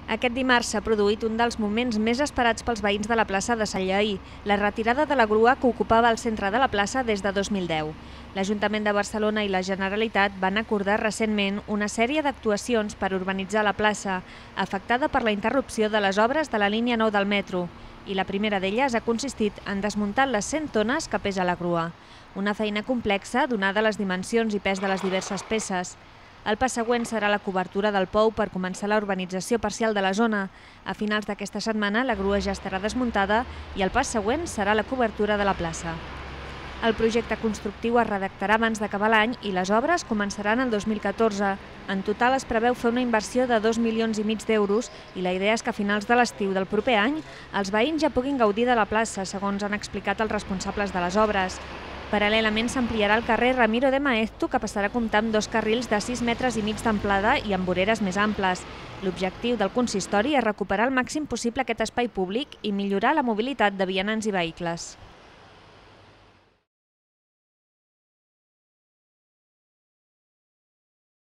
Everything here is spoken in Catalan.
Aquest dimarts s'ha produït un dels moments més esperats pels veïns de la plaça de Sant Lleïr, la retirada de la grua que ocupava el centre de la plaça des de 2010. L'Ajuntament de Barcelona i la Generalitat van acordar recentment una sèrie d'actuacions per urbanitzar la plaça, afectada per la interrupció de les obres de la línia 9 del metro, i la primera d'elles ha consistit en desmuntar les 100 tones que pesa la grua. Una feina complexa, donada les dimensions i pes de les diverses peces. El pas següent serà la cobertura del pou per començar la urbanització parcial de la zona. A finals d'aquesta setmana la grua ja estarà desmuntada i el pas següent serà la cobertura de la plaça. El projecte constructiu es redactarà abans d'acabar l'any i les obres començaran el 2014. En total es preveu fer una inversió de 2,5 milions d'euros i la idea és que a finals de l'estiu del proper any els veïns ja puguin gaudir de la plaça, segons han explicat els responsables de les obres. Paral·lelament s'ampliarà el carrer Ramiro de Maeztu, que passarà a comptar amb 2 carrils de 6,5 metres d'amplada i amb voreres més amples. L'objectiu del consistori és recuperar al màxim possible aquest espai públic i millorar la mobilitat de vianants i vehicles.